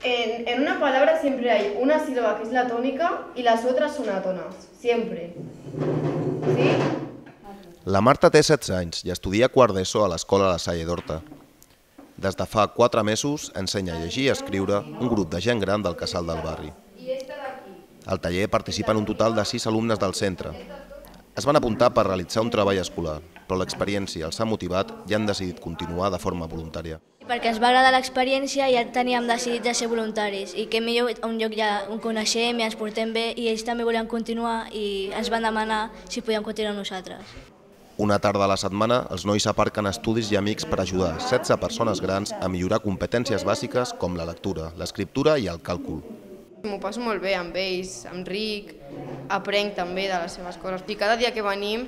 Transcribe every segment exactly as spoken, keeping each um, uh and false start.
En, en una palabra siempre hay una sílaba que es la tónica y las otras sonátonas, siempre. ¿Sí? La Marta té setze anys i estudia quart d'ESO a l'escola La Salle d'Horta. Des de fa quatre mesos ensenya a llegir i a escriure un grup de gent gran del casal del barri. Al taller participen un total de sis alumnes del centre. Es van apuntar per realitzar un treball escolar, però l'experiència els ha motivat i han decidit continuar de forma voluntària. Perquè ens va agradar l'experiència i ja teníem decidit de ser voluntaris i que millor un lloc ja ho coneixem i ens portem bé i ells també volien continuar i ens van demanar si podíem continuar amb nosaltres. Una tarda a la setmana, els nois aparquen estudis i amics per ajudar setze persones grans a millorar competències bàsiques com la lectura, l'escriptura i el càlcul. M'ho passo molt bé amb ells, amb Ric, aprenc també de les seves coses. I cada dia que venim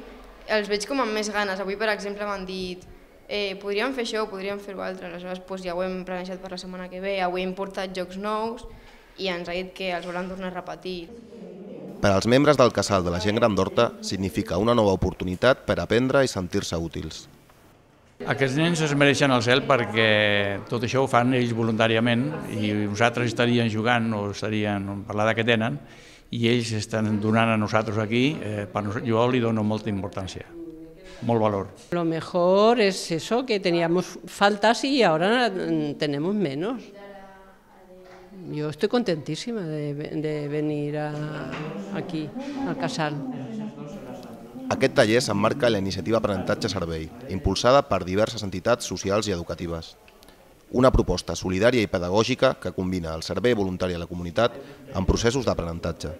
els veig com amb més ganes. Avui, per exemple, m'han dit eh, podríem fer això, podríem fer-ho altre. Aleshores doncs, ja ho hem planejat per la setmana que ve. Avui hem portat jocs nous i ens ha dit que els volen tornar a repetir. Per als membres del casal de la gent gran d'Horta significa una nova oportunitat per aprendre i sentir-se útils. Aquests nens es mereixen el cel perquè tot això ho fan ells voluntàriament i nosaltres estaríem jugant o estaríem per l'edat que tenen i ells estan donant a nosaltres aquí, eh, per jo li dono molta importància, molt valor. Lo mejor es eso, que teníamos faltas y ahora tenemos menos. Yo estoy contentísima de, de venir a, aquí, al casal. Aquest taller s'emmarca en la iniciativa Aprenentatge Servei, impulsada per diverses entitats socials i educatives. Una proposta solidària i pedagògica que combina el servei voluntari a la comunitat amb processos d'aprenentatge.